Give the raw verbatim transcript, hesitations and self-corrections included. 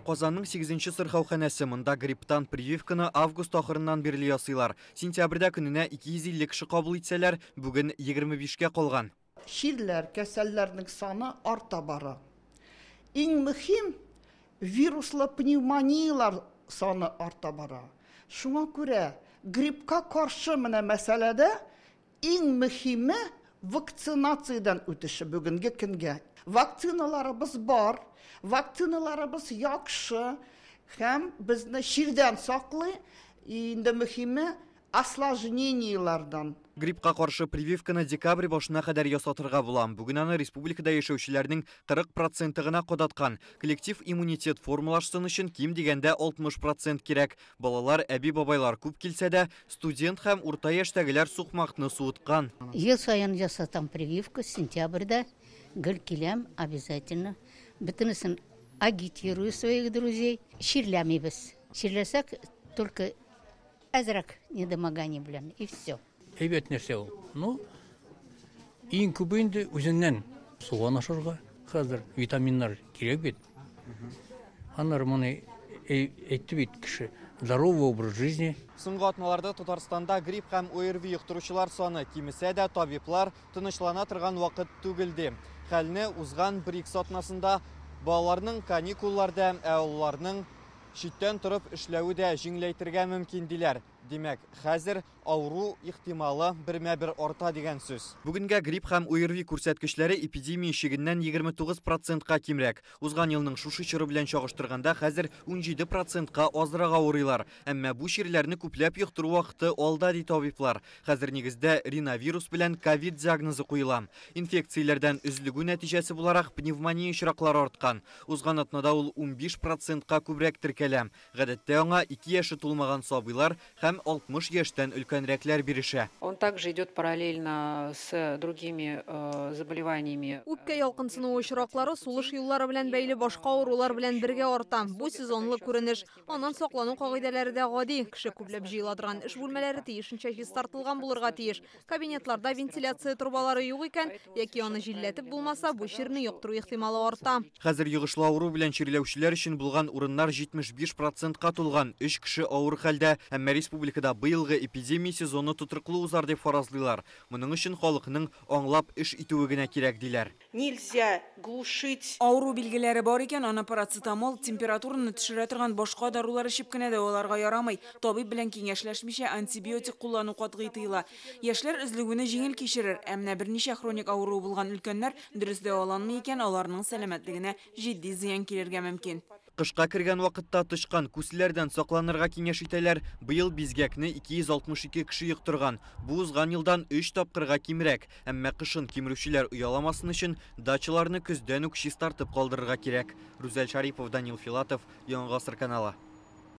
Казанның сигезенче сырхауханәсе. Монда грипптан прививканы август ахырыннан бирле ясыйлар. Сентябрьдә көненә ике йөз илле кеше кабул итсәләр, бүген егерме бишкә калган. Чирләр, кәсәлләрнең саны арта бара. Иң мөһим вируслы пневмониялар саны арта бара. Шуңа күрә гриппка каршы менә мәсьәләдә иң мөһиме вакцинациядән үтеше бүгенге көнгә. Вакциналарыбыз бар, вакциналарыбыз яхшы һәм безне чирдән саклый, инде мөһиме осложнениелардан. Гриппка каршы прививканы декабрь башына кадәр ясатырга була. Бүген аны республикада яшәүчеләрнең кырык проценты гына кадаткан. Коллектив иммунитет формалашсын өчен ким дигәндә алтмыш процент кирәк. Балалар, әби-бабайлар күп килсә дә, студент һәм урта яшьтәгеләр сукмакны суыткан. Ел саен ясатам прививка, сентябрьдә гел киләм обязательно. Бөтенесен агитирую своих друзей. Чирләмибез. Чирләсәк, только әзрәк недомогание белән, и все. Әйбәт нәрсә ул. Ну, иң күбе инде үзеннән суган ашарга. Хәзер витаминнар кирәк бит. Аннары моны әйтте бит кеше. Здоровый образ жизни. Соңгы атналарда Татарстанда грипп һәм ОРВИ йоктыручылар саны кимесә дә, табиблар тынычлана торган вакыт түгел ди. Хәлне узган бер ике атнасында балаларның каникулларда, ә олыларның читтән торып эшләве дә җиңеләйтергә мөмкин диләр. Димәк, хәзер авыру ихтималы бермә-бер арта дигән сүз. Бүгенгә грипп һәм ОРВИ күрсәткечләре эпидемия чигеннән егерме тугыз процентка кимрәк. Узган елның шушы чоры белән чагыштырганда хәзер унҗиде процентка азрак авырыйлар. Әмма бу чирләрне күпләп йоктыру вакыты алда, ди табиблар. Хәзер нигездә риновирус белән ковид диагнозы куела. Инфекцияләрдән өзлегү нәтиҗәсе буларак пневмония очраклары арткан. Узган атнада ул унбиш процентка күбрәк теркәлә. Гадәттә аңа ике яше тулмаган сабыйлар һәм алтмыш яшьтән өлкәнрәкләр бирешә. Он также идет параллельно с другими, э, заболеваниями. Үпкә ялкынсынуы очраклары сулыш юллары белән бәйле башка авырулар белән бергә арта. Бу сезонлы күренеш. Аннан саклану кагыйдәләре дә гади. Кеше күпләп җыела торган эш бүлмәләре тиешенчә чистартылган булырга тиеш. Кабинетларда вентиляция трубалары юк икән, яки аны җилләтеп булмаса, бу чирне йоктыру ихтималы арта. Хәзер йогышлы авыру белән чирләүчеләр өчен булган урыннар җитмеш биш процентка тулган. Өч кеше авыр хәлдә, әмма республикада быелгы эпидемия сезоны тотрыклы узар дип фаразлыйлар. Моның өчен халыкның аңлап эш итүе генә кирәк диләр. Нельзя глушить. Авыру билгеләре бар икән, аны парацетамол, температураны төшерә торган башка дарулар эчеп кенә дәваларга ярамый. Табиб белән киңәшләшмичә антибиотик куллану катгый тыела. Яшьләр өзлегүне җиңел кичерер, ә менә берничә хроник авыруы булган өлкәннәр дөрес дәваланмый икән, аларның сәламәтлегенә җитди зыян килергә мөмкин. Кышка кергән вакытта тычкан күселәрдән сакланырга киңәш итәләр. Быел бизгәкне ике йөз алтмыш ике кеше йоктырган. Бу узган елдан өч тапкырга кимрәк. Әмма кышын кимерүчеләр ояламасын өчен дачаларны көздән үк чистартып калдырырга кирәк. Рүзәл Шарипов, Данил Филатов, Яңа Гасыр каналы.